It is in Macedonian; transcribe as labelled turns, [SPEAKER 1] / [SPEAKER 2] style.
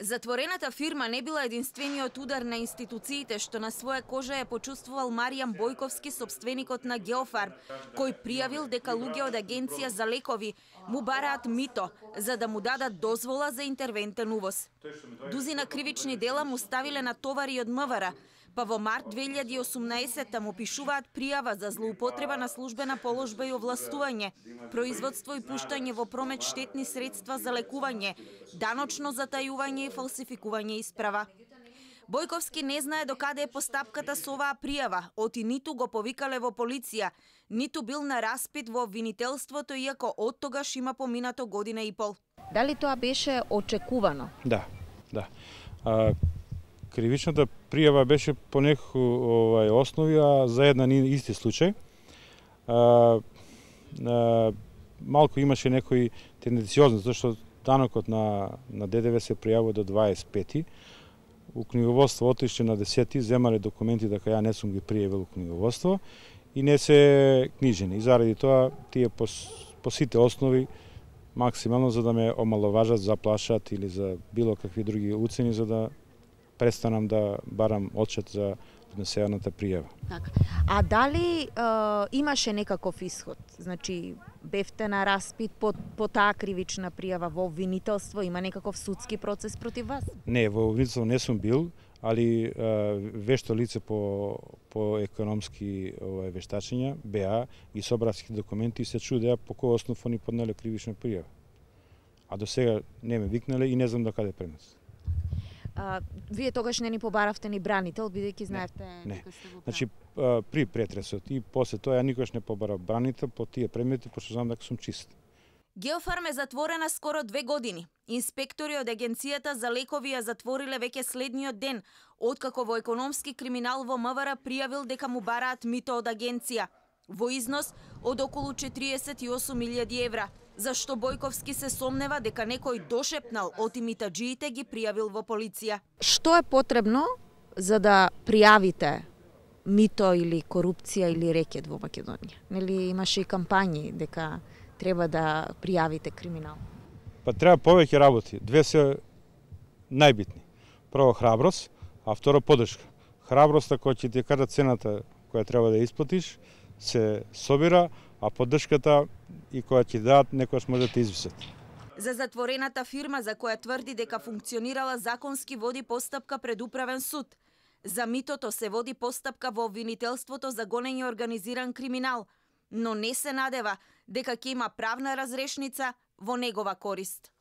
[SPEAKER 1] Затворената фирма не била единствениот удар на институциите што на своја кожа е почувствувал Маријан Бојковски, собственикот на Геофарм, кој пријавил дека луѓе од агенција за лекови му бараат мито за да му дадат дозвола за интервентен увоз. Дузина кривични дела му ставиле на товари од МВР, па во март 2018 му пишуваат пријава за злоупотреба на службена положба и овластување, производство и пуштање во промет штетни средства за лекување, даночно затајување и фалсификување исправа. Бојковски не знае докаде е постапката со оваа пријава, оти ниту го повикале во полиција, ниту бил на распит во обвинителството, иако од тогаш има поминато година и пол.
[SPEAKER 2] Дали тоа беше очекувано?
[SPEAKER 3] Да. Кривичната пријава беше по некои основи, а за еден исти случај. Малку имаше некои тенденциозност, зашто данокот на ДДВ се пријавува до 25-ти. У книговодство отишле на 10-ти, земале документи дека ја не сум ги пријавил у книговодство и не се книжени. И заради тоа тие по сите основи максимално за да ме омаловажат, заплашат или за било какви други уцени за да престанам да барам отчет за внесената пријава.
[SPEAKER 2] Така. А дали имаше некаков исход? Значи, бевте на распит по таа кривична пријава во обвинителство, има некаков судски процес против вас?
[SPEAKER 3] Не, во обвинителство не сум бил, али вешто лице по економски вештачења, БА и собравски документи се чудеа по кој основ они поднеле кривична пријава. А до сега не ме викнале и не знам до каде пренес.
[SPEAKER 2] Вие тогаш не ни побаравте ни бранител, бидејќи знаевте дека сте во право.
[SPEAKER 3] Значи, при претресот и после тоа ја никош не побарав бранител по тие предмети, пошто знам дека сум чист.
[SPEAKER 1] Геофарм е затворена скоро 2 години. Инспектори од Агенцијата за лекови ја затвориле веќе следниот ден, откако во економски криминал во МВР пријавил дека му бараат мито од агенција, во износ од околу 48.000 евра, зашто Бојковски се сомнева дека некој дошепнал од имитаджиите ги пријавил во полиција.
[SPEAKER 2] Што е потребно за да пријавите мито или корупција или рекет во Македонија? Нели имаше и кампањи дека треба да пријавите криминал?
[SPEAKER 3] Па треба повеќе работи. Две се најбитни. Прво храброст, а второ поддршка. Храброста која ќе ти кажа цената која треба да исплатиш се собира, а поддршката и која ќе дадат некојаш може да те извисат.
[SPEAKER 1] За затворената фирма за која тврди дека функционирала законски води постапка пред управен суд. За митото се води постапка во обвинителството за гонење организиран криминал, но не се надева дека ќе има правна разрешница во негова корист.